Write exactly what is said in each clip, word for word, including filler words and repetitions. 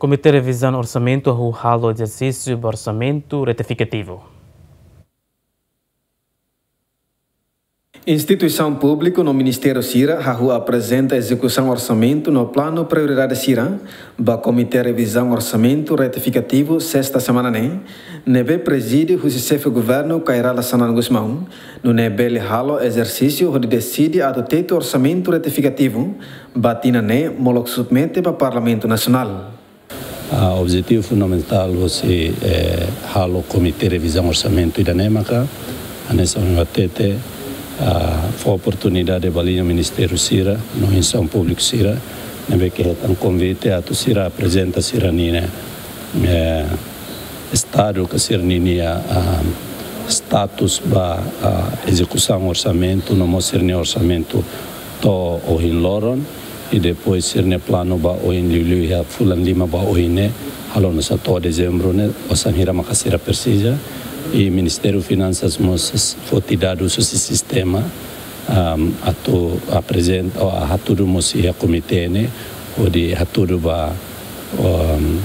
Komité Revizaun Orsamentu hahú halo ezersísiu ba orsamentu retifikativu. Instituisaun públiku no ministériu sira hahú aprezenta ezekusaun orsamentu no planu prioridade sira ba Komité Revizaun Orsamentu Retifikativu sesta semana ne'e, ne'ebé prezide husi Xefe Governu Kay Rala Xanana Gusmão, nune'e bele halo ezersísiu hodi deside atu tetu orsamentu retifikativu ba tinan ne'e molok submete ba Parlamentu Nasionál. Ah, objetivu fundamentál hosi, eh, halo Komité Revizaun Orsamentu ida-ne'e maka, hanesan ohin hatete, ah, fó oportunidade ba liña ministériu sira, no instituisaun públiku sira, ne'ebé ke hetan konvite atu sira aprezenta sira-nia, eh, estadu ka sira-nia, ah, status ba, ah, ezekusaun orsamentu, no mós sira-nia orsamentu to'o ohin loron, i depois sira-nia planu ba oin, liuliu iha fulan lima ba oin ne'e, halo nu'usá to'o dezembru ne'e, osan hira maka sira presiza. I Ministériu Finansas mós foti dadus husi sistema, am, atu aprezenta, ou hatudu mós iha komité ne'e, hodi hatudu ba, am,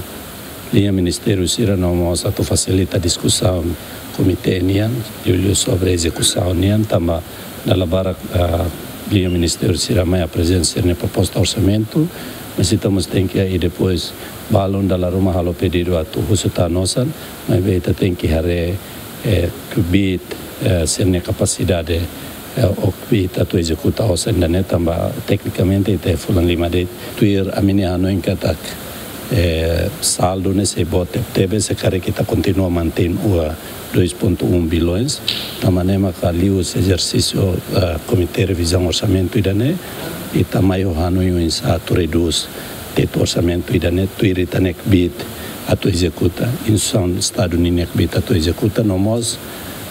liña ministériu sira no mós atu fasilita diskusaun komité nian, liuliu sobre ezekusaun nian, tanba dala barak, ah, liña ministériu sira mai aprezenta sira-nia proposta orsamentu, mas ita mós tenke, i depois balun dala ruma halo pedidu atu husu tan osan, maibé ita tenke haree, eh, kbiit, eh, sira-nia kapasidade, eh, ou kbiit atu ezekuta osan ida-ne'e, tanba teknikamente ita fulan lima de'it. Tuir ami-nia hanoin katak, eh, saldu ne'e sei boot tebetebes, se karik ita kontinua mantein ua dois ponto um bilhões. Tanba ne'e maka liuhusi ezersísiu, eh, Komité Revizaun Orsamentu ida-ne'e, ita mai ho hanoin oinsá atu redús tetu orsamentu ida-ne'e, tuir ita-nia kbiit atu ezekuta, instituisaun Estadu ninia kbiit atu ezekuta, no mós,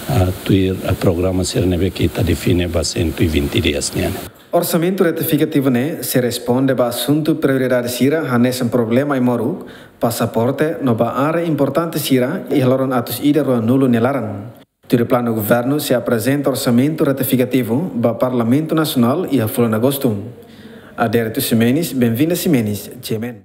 ah, tuir, ah, programa sira ne'ebé ke ita define ba cento e vinte dias nian. Orsamentu retifikativu ne'e sei responde ba asuntu prioridade sira hanesan problema ai-moruk, pasaporte no ba área importante sira iha loron atus ida rua-nulu nia laran. Tuir planu governu sei aprezenta orsamentu retifikativu ba Parlamentu Nasionál iha fulan Agostu. Adérito Ximenes, Benvinda Ximenes, G M N.